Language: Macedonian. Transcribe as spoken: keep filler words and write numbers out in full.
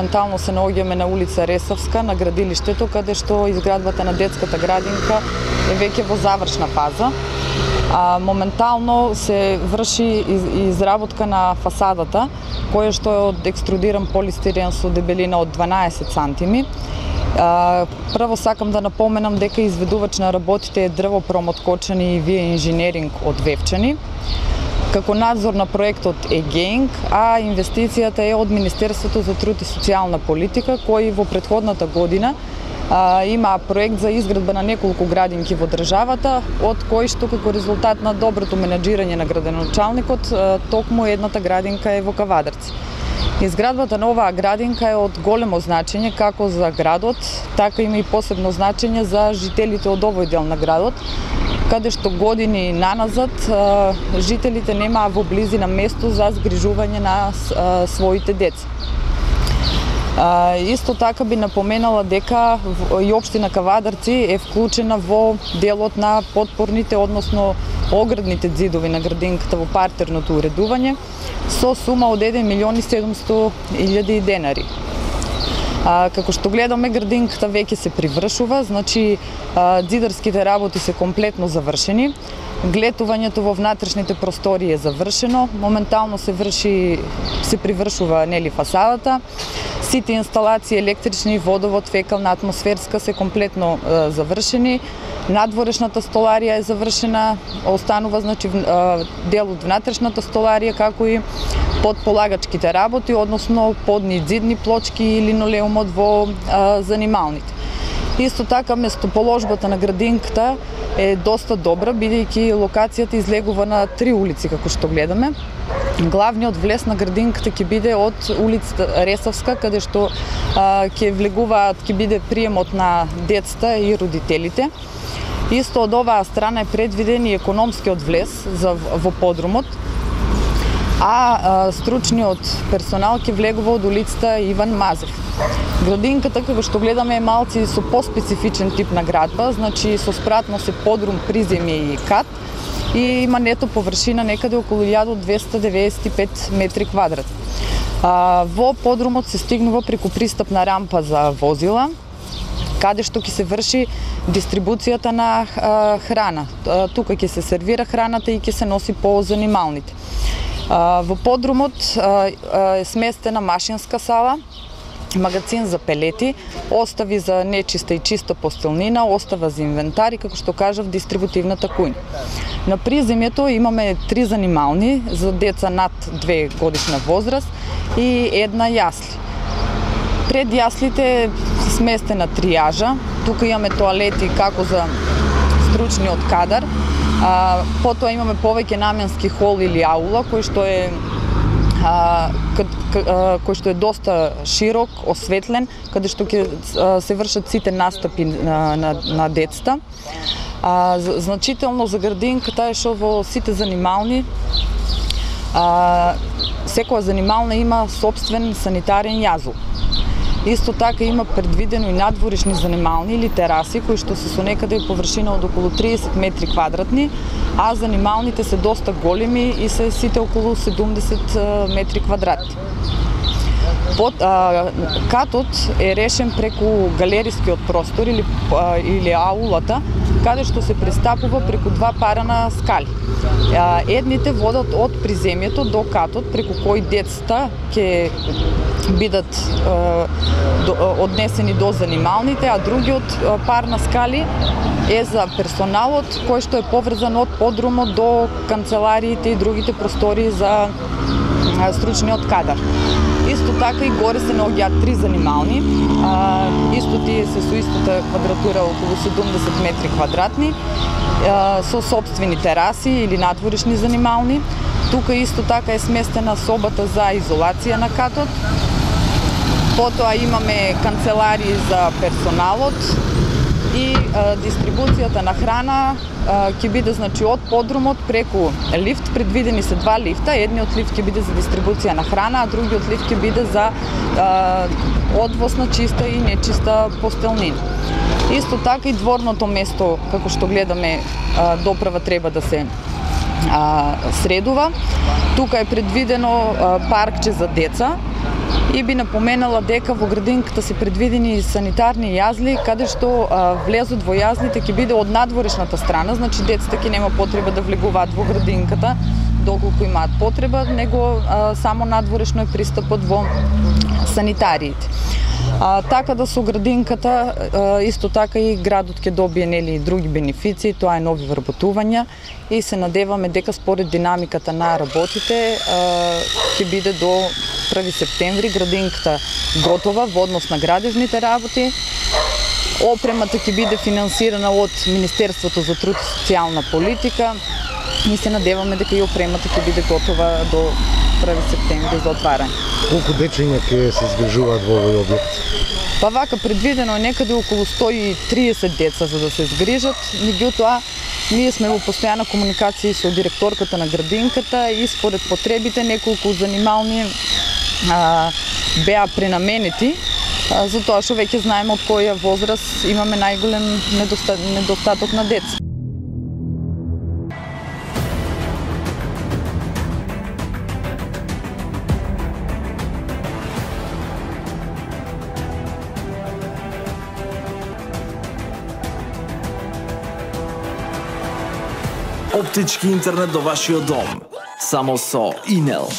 моментално се наоѓаме на улица Ресавска, на градилиштето, каде што изградбата на детската градинка е веќе во завршна фаза. А, моментално се врши изработка на фасадата, која што е од екструдиран полистирен со дебелина од дванаесет сантими. А, прво сакам да напоменам дека изведувач на работите е Дрвопром од Кочани и Вие инженеринг од Вевчани. Како надзор на проектот е ГЕИНГ, а инвестицијата е од Министерството за труд и социјална политика, кој во претходната година а, има проект за изградба на неколку градинки во државата, од кој што како резултат на доброто менаџирање на градоначалникот, токму едната градинка е во Кавадарци. Изградбата на оваа градинка е од големо значење како за градот, така има и посебно значење за жителите од овој дел на градот, каде што години наназад жителите немаа во близина место за згрижување на своите деца. Исто така би напоменала дека и општина Кавадарци е вклучена во делот на подпорните, односно оградните ѕидови на градинката во партерното уредување со сума од еден милион и седумстотини илјади денари. А, како што гледаме, градинката веќе се привршува, значи а, ѕидарските работи се комплетно завршени, глетувањето во внатрешните простори е завршено, моментално се врши, се привршува нели фасадата, сите инсталации електрични, водовод, фекална, атмосферска се комплетно а, завршени, надворешната столарија е завршена, останува значи дел од внатрешната столарија како и подполагачките работи, односно подни ѕидни плочки и линолеумот во а, занималните. Исто така местоположбата на градинката е доста добра, бидејќи локацијата излегува на три улици како што гледаме. Главниот влез на градинката ќе биде од улица Ресавска, каде што а, ќе влегуваат, ќе биде приемот на децата и родителите. Исто од оваа страна е предвиден и економскиот влез за, во подрумот, а, а стручниот персонал ќе влегува од улицата Иван Мазев. Градинката, како што гледаме, е малци со поспецифичен тип на градба, значи со спратно се подрум, приземје и кат, и има нето површина некаде околу илјада двесте деведесет и пет метри квадратни. А, во подрумот се стигнува преку пристапна рампа за возила, каде што ќе се врши дистрибуцијата на а, храна. А, тука ќе се сервира храната и ќе се носи по занималните. А, во подрумот а, а, е сместена машинска сала, магазин за пелети, остави за нечиста и чиста постелнина, остава за инвентари, како што кажав, дистрибутивната кујна. На приземјето имаме три занимални за деца над две годишна возраст и една јасли. Пред јаслите е сместена тријажа, тука имаме тоалети како за стручниот кадар, а, потоа имаме повеќе наменски хол или аула, кој што е а, кад, а, кој што е доста широк, осветлен, каде што ќе се вршат сите настапи на, на, на децата. А, значително за градинката е што во сите занимални а, секоја занимална има собствен санитарен јазол. Исто така има предвидено и надворешни занимални или тераси, кои што се со некаде површина од околу триесет метри квадратни, а занималните се доста големи и се сите околу седумдесет метри квадратни. Под, а, катот е решен преку галерискиот простор или, а, или аулата, каде што се пристапува преку два пара на скали. А, едните водат од приземјето до катот, преку кој децата ќе бидат а, до, однесени до занималните, а другиот а, пар на скали е за персоналот, кој што е поврзан од подрумот до канцелариите и другите простори за а, стручниот кадар. Исто така и горе се наоѓаат три занимални, а, исто тие се со истата квадратура околу седумдесет метри квадратни, а, со собствени тераси или надворешни занимални. Тука исто така е сместена собата за изолација на катот. Потоа имаме канцеларии за персоналот и а, дистрибуцијата на храна а, ќе биде значи од подрумот преку лифт, предвидени се два лифта, едниот лифт ќе биде за дистрибуција на храна, а другиот лифт ќе биде за а, одвоз на чиста и нечиста постелнина. Исто така и дворното место, како што гледаме, а, доправа треба да се а, средува. Тука е предвидено а, паркче за деца И би напоменала дека во градинката се предвидени санитарни јазли, каде што а, влезот во јазлите ќе биде од надворешната страна, значи децата ќе нема потреба да влегуваат во градинката доколку имаат потреба, него а, само надворешно е пристапот во санитариите. А, така да со градинката, а, исто така и градот ќе добие нели и други бенефиции, тоа е нови вработувања и се надеваме дека според динамиката на работите ќе биде до први септември градинката готова во однос на градежните работи. Опремата ќе биде финансирана од Министерството за труд и социјална политика и се надеваме дека и опремата ќе биде готова до први септември за отварање. Колку дечиња ќе се згрижуваат во овој објект? Па вака предвидено е некаде околу сто и триесет деца за да се згрижат, меѓутоа ние сме во постојана комуникација со директорката на градинката и според потребите неколку занимални а, беа пренаменети, а, затоа што веќе знаеме од која возраст имаме најголем недоста... недостаток на деца. Оптички интернет до вашиот дом. Само со Инел.